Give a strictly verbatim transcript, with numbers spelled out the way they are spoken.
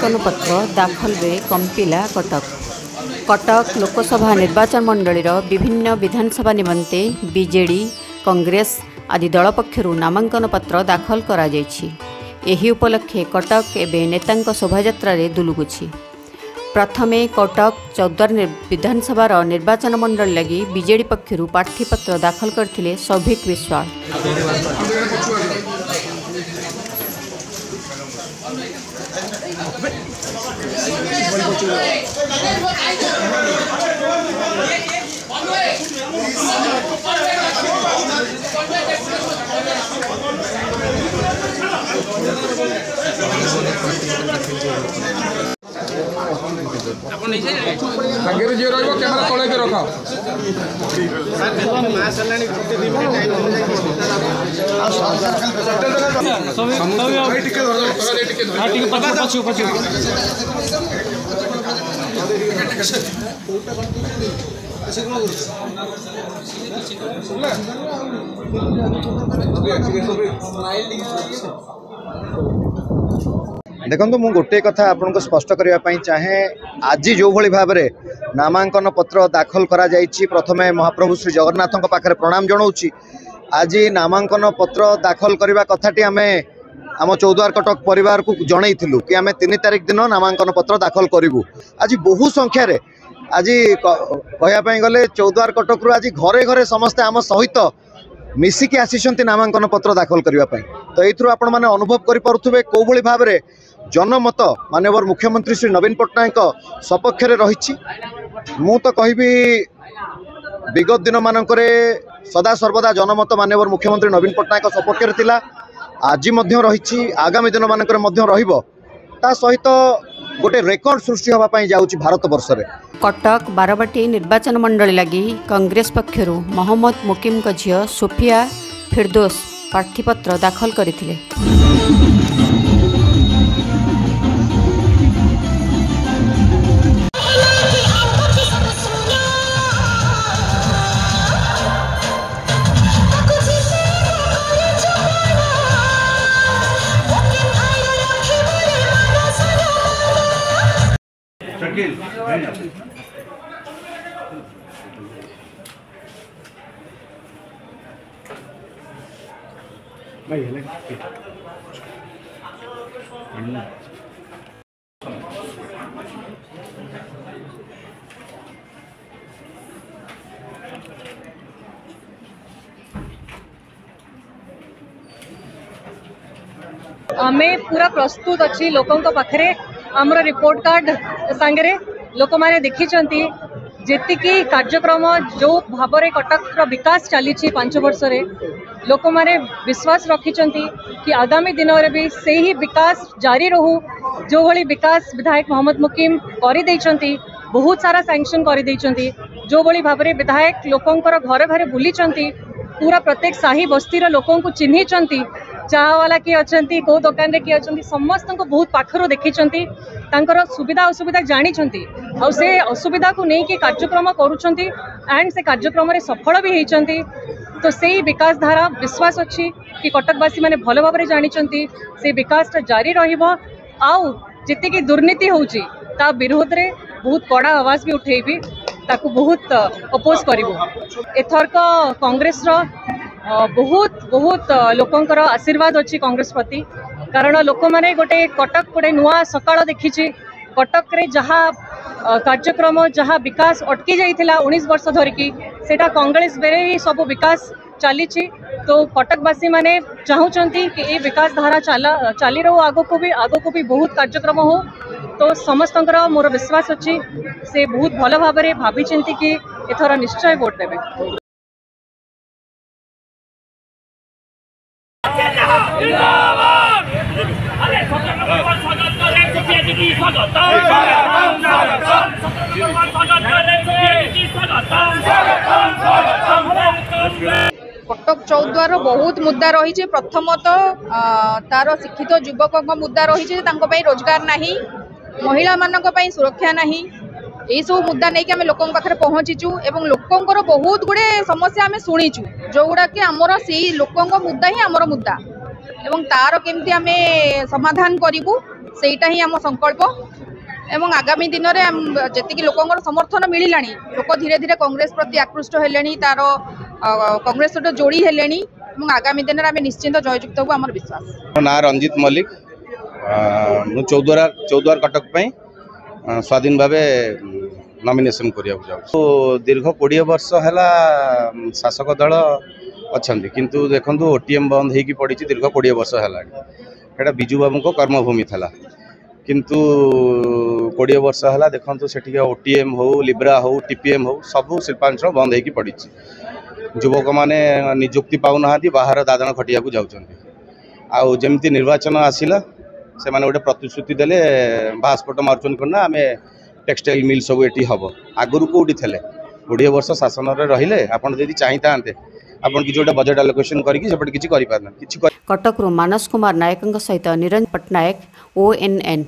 ନାମାଙ୍କନ ପତ୍ର ଦାଖଲ ବେଳେ କମ୍ପିଲା କଟକ। କଟକ ଲୋକସଭା ନିର୍ବାଚନ ମଣ୍ଡଳୀର ବିଭିନ୍ନ ବିଧାନସଭା ନିମନ୍ତେ ବିଜେଡି, କଂଗ୍ରେସ ଆଦି ଦଳ ପକ୍ଷରୁ ନାମାଙ୍କନ ପତ୍ର ଦାଖଲ କରାଯାଇଛି। ଏହି ଉପଲକ୍ଷେ କଟକ ଏବେ ନେତାଙ୍କ ଶୋଭାଯାତ୍ରାରେ ଦୁଲୁକୁଛି। ପ୍ରଥମେ କଟକ ଚୌଦ୍ୱାର ବିଧାନସଭାର ନିର୍ବାଚନ ମଣ୍ଡଳୀ ଲାଗି ବିଜେଡି ପକ୍ଷରୁ ପ୍ରାର୍ଥୀପତ୍ର ଦାଖଲ କରିଥିଲେ ସୌଭିକ ବିଶ୍ୱାଳ। ଆଗରେ ଯିଏ ରହିବ କ୍ୟାମେରା ତଳେ ରଖ। ଦେଖନ୍ତୁ, ମୁଁ ଗୋଟିଏ କଥା ଆପଣଙ୍କୁ ସ୍ପଷ୍ଟ କରିବା ପାଇଁ ଚାହେଁ। ଆଜି ଯେଉଁଭଳି ଭାବରେ ନାମାଙ୍କନ ପତ୍ର ଦାଖଲ କରାଯାଇଛି, ପ୍ରଥମେ ମହାପ୍ରଭୁ ଶ୍ରୀ ଜଗନ୍ନାଥଙ୍କ ପାଖରେ ପ୍ରଣାମ ଜଣାଉଛି। ଆଜି ନାମାଙ୍କନ ପତ୍ର ଦାଖଲ କରିବା କଥାଟି ଆମେ ଆମ ଚୌଦ୍ୱାର କଟକ ପରିବାରକୁ ଜଣାଇଥିଲୁ କି ଆମେ ତିନି ତାରିଖ ଦିନ ନାମାଙ୍କନ ପତ୍ର ଦାଖଲ କରିବୁ। ଆଜି ବହୁ ସଂଖ୍ୟାରେ, ଆଜି କହିବା ପାଇଁ ଗଲେ ଚୌଦ୍ୱାର କଟକରୁ ଆଜି ଘରେ ଘରେ ସମସ୍ତେ ଆମ ସହିତ ମିଶିକି ଆସିଛନ୍ତି ନାମାଙ୍କନ ପତ୍ର ଦାଖଲ କରିବା ପାଇଁ। ତ ଏଇଥିରୁ ଆପଣମାନେ ଅନୁଭବ କରିପାରୁଥିବେ କେଉଁଭଳି ଭାବରେ ଜନମତ ମାନ୍ୟବର ମୁଖ୍ୟମନ୍ତ୍ରୀ ଶ୍ରୀ ନବୀନ ପଟ୍ଟନାୟକଙ୍କ ସପକ୍ଷରେ ରହିଛି। ମୁଁ ତ କହିବି, ବିଗତ ଦିନମାନଙ୍କରେ ସଦାସର୍ବଦା ଜନମତ ମାନ୍ୟବର ମୁଖ୍ୟମନ୍ତ୍ରୀ ନବୀନ ପଟ୍ଟନାୟକଙ୍କ ସପକ୍ଷରେ ଥିଲା, ଆଜି ମଧ୍ୟ ରହିଛି, ଆଗାମୀ ଦିନମାନଙ୍କରେ ମଧ୍ୟ ରହିବ। ତା ସହିତ ଗୋଟେ ରେକର୍ଡ ସୃଷ୍ଟି ହେବା ପାଇଁ ଯାଉଛି ଭାରତ ବର୍ଷରେ। କଟକ ବାରବାଟୀ ନିର୍ବାଚନ ମଣ୍ଡଳୀ ଲାଗି କଂଗ୍ରେସ ପକ୍ଷରୁ ମହମ୍ମଦ ମୁକିମଙ୍କ ଝିଅ ସୋଫିଆ ଫିରଦୋସ ପ୍ରାର୍ଥୀପତ୍ର ଦାଖଲ କରିଥିଲେ। ଆମେ ପୁରା ପ୍ରସ୍ତୁତ ଅଛି ଲୋକଙ୍କ ପାଖରେ। ଆମର ରିପୋର୍ଟ କାର୍ଡ ସାଙ୍ଗରେ ଲୋକମାନେ ଦେଖିଛନ୍ତି ଯେତିକି କାର୍ଯ୍ୟକ୍ରମ, ଯେଉଁ ଭାବରେ କଟକର ବିକାଶ ଚାଲିଛି ପାଞ୍ଚ ବର୍ଷରେ, ଲୋକମାନେ ବିଶ୍ୱାସ ରଖିଛନ୍ତି କି ଆଗାମୀ ଦିନରେ ବି ସେହି ବିକାଶ ଜାରି ରହୁ। ଯେଉଁଭଳି ବିକାଶ ବିଧାୟକ ମହମ୍ମଦ ମୁକିମ କରିଦେଇଛନ୍ତି, ବହୁତ ସାରା ସାଙ୍କସନ୍ କରିଦେଇଛନ୍ତି, ଯେଉଁଭଳି ଭାବରେ ବିଧାୟକ ଲୋକଙ୍କର ଘରେ ଘରେ ବୁଲିଛନ୍ତି, ପୁରା ପ୍ରତ୍ୟେକ ସାହି ବସ୍ତିର ଲୋକଙ୍କୁ ଚିହ୍ନିଛନ୍ତି, ଚାହାବାଲା କିଏ ଅଛନ୍ତି, କେଉଁ ଦୋକାନରେ କିଏ ଅଛନ୍ତି, ସମସ୍ତଙ୍କୁ ବହୁତ ପାଖରୁ ଦେଖିଛନ୍ତି, ତାଙ୍କର ସୁବିଧା ଅସୁବିଧା ଜାଣିଛନ୍ତି ଆଉ ସେ ଅସୁବିଧାକୁ ନେଇକି କାର୍ଯ୍ୟକ୍ରମ କରୁଛନ୍ତି ଆଣ୍ଡ ସେ କାର୍ଯ୍ୟକ୍ରମରେ ସଫଳ ବି ହେଇଛନ୍ତି। ତ ସେଇ ବିକାଶ ଧାରା ବିଶ୍ୱାସ ଅଛି କି କଟକବାସୀ ମାନେ ଭଲ ଭାବରେ ଜାଣିଛନ୍ତି ସେ ବିକାଶଟା ଜାରି ରହିବ। ଆଉ ଯେତିକି ଦୁର୍ନୀତି ହେଉଛି ତା ବିରୋଧରେ ବହୁତ କଡ଼ା ଆୱାଜ ବି ଉଠେଇବି, ତାକୁ ବହୁତ ଅପୋଜ କରିବୁ। ଏଥରକ କଂଗ୍ରେସର ବହୁତ ବହୁତ ଲୋକଙ୍କର ଆଶୀର୍ବାଦ ଅଛି କଂଗ୍ରେସ ପ୍ରତି, କାରଣ ଲୋକମାନେ ଗୋଟେ କଟକ ଗୋଟେ ନୂଆ ସକାଳ ଦେଖିଛି। କଟକରେ ଯାହା କାର୍ଯ୍ୟକ୍ରମ, ଯାହା ବିକାଶ ଅଟକି ଯାଇଥିଲା ଉଣେଇଶ ବର୍ଷ ଧରିକି, ସେଇଟା କଂଗ୍ରେସ ବେଳେ ହିଁ ସବୁ ବିକାଶ ଚାଲିଛି। ତ କଟକବାସୀ ମାନେ ଚାହୁଁଛନ୍ତି କି ଏ ବିକାଶ ଧାରା ଚାଲା ଚାଲି ରହୁ, ଆଗକୁ ବି ଆଗକୁ ବି ବହୁତ କାର୍ଯ୍ୟକ୍ରମ ହଉ। ତ ସମସ୍ତଙ୍କର ମୋର ବିଶ୍ୱାସ ଅଛି ସେ ବହୁତ ଭଲ ଭାବରେ ଭାବିଛନ୍ତି କି ଏଥର ନିଶ୍ଚୟ ଭୋଟ ଦେବେ। କଟକ ଚୌଦ୍ୱାର ବହୁତ ମୁଦ୍ଦା ରହିଛି। ପ୍ରଥମତଃ ତାର ଶିକ୍ଷିତ ଯୁବକଙ୍କ ମୁଦ୍ଦା ରହିଛି ଯେ ତାଙ୍କ ପାଇଁ ରୋଜଗାର ନାହିଁ, ମହିଳାମାନଙ୍କ ପାଇଁ ସୁରକ୍ଷା ନାହିଁ। ଏଇସବୁ ମୁଦ୍ଦା ନେଇକି ଆମେ ଲୋକଙ୍କ ପାଖରେ ପହଞ୍ଚିଛୁ ଏବଂ ଲୋକଙ୍କର ବହୁତ ଗୁଡ଼ିଏ ସମସ୍ୟା ଆମେ ଶୁଣିଛୁ, ଯେଉଁଗୁଡ଼ାକି ଆମର ସେଇ ଲୋକଙ୍କ ମୁଦ୍ଦା ହିଁ ଆମର ମୁଦ୍ଦା ଏବଂ ତାର କେମିତି ଆମେ ସମାଧାନ କରିବୁ ସେଇଟା ହିଁ ଆମ ସଂକଳ୍ପ। ଏବଂ ଆଗାମୀ ଦିନରେ ଯେତିକି ଲୋକଙ୍କର ସମର୍ଥନ ମିଳିଲାଣି, ଲୋକ ଧୀରେ ଧୀରେ କଂଗ୍ରେସ ପ୍ରତି ଆକୃଷ୍ଟ ହେଲେଣି, ତାର କଂଗ୍ରେସ ସହିତ ଯୋଡ଼ି ହେଲେଣି ଏବଂ ଆଗାମୀ ଦିନରେ ଆମେ ନିଶ୍ଚିନ୍ତ ଜୟଯୁକ୍ତ ହେବୁ, ଆମର ବିଶ୍ୱାସ। ମୋ ନାଁ ରଞ୍ଜିତ ମଲ୍ଲିକ। ମୁଁ ଚୌଦ୍ୱାର ଚୌଦ୍ୱାର କଟକ ପାଇଁ ସ୍ୱାଧୀନ ଭାବେ ନମିନେସନ୍ କରିବାକୁ ଯାଉଛି। ଦୀର୍ଘ କୋଡ଼ିଏ ବର୍ଷ ହେଲା ଶାସକ ଦଳ ଅଛନ୍ତି, କିନ୍ତୁ ଦେଖନ୍ତୁ ଓ ଟି ଏମ୍ ବନ୍ଦ ହେଇକି ପଡ଼ିଛି ଦୀର୍ଘ କୋଡ଼ିଏ ବର୍ଷ ହେଲାଣି। ସେଇଟା ବିଜୁ ବାବୁଙ୍କ କର୍ମଭୂମି ଥିଲା, କିନ୍ତୁ କୋଡ଼ିଏ ବର୍ଷ ହେଲା ଦେଖନ୍ତୁ ସେଠିକା ଓ ଟି ଏମ୍ ହଉ, ଲିବ୍ରା ହଉ, ଟି ପି ଏମ୍ ହଉ, ସବୁ ଶିଳ୍ପାଞ୍ଚଳ ବନ୍ଦ ହେଇକି ପଡ଼ିଛି। ଯୁବକମାନେ ନିଯୁକ୍ତି ପାଉନାହାନ୍ତି, ବାହାର ଦାଦନ ଖଟିବାକୁ ଯାଉଛନ୍ତି। ଆଉ ଯେମିତି ନିର୍ବାଚନ ଆସିଲା, ସେମାନେ ଗୋଟେ ପ୍ରତିଶ୍ରୁତି ଦେଲେ, ବାହାସ୍ଫୋଟ ମାରୁଛନ୍ତି କ'ଣ ନା ଆମେ ଟେକ୍ସଟାଇଲ୍ ମିଲ୍ ସବୁ ଏଠି ହେବ। ଆଗରୁ କେଉଁଠି ଥିଲେ? କୋଡ଼ିଏ ବର୍ଷ ଶାସନରେ ରହିଲେ। ଆପଣ ଯଦି ଚାହିଁଥାନ୍ତେ, ଆପଣ କିଛି ଗୋଟେ ବଜେଟ୍ ଆଲୋକେସନ୍ କରିକି ସେପଟେ କିଛି କରିପାରିଥାନ୍ତେ, କିଛି କଟକରୁ ମାନସ କୁମାର ନାୟକଙ୍କ ସହିତ ନିରଞ୍ଜନ ପଟ୍ଟନାୟକ, ଓ ଏନ୍ ଏନ୍।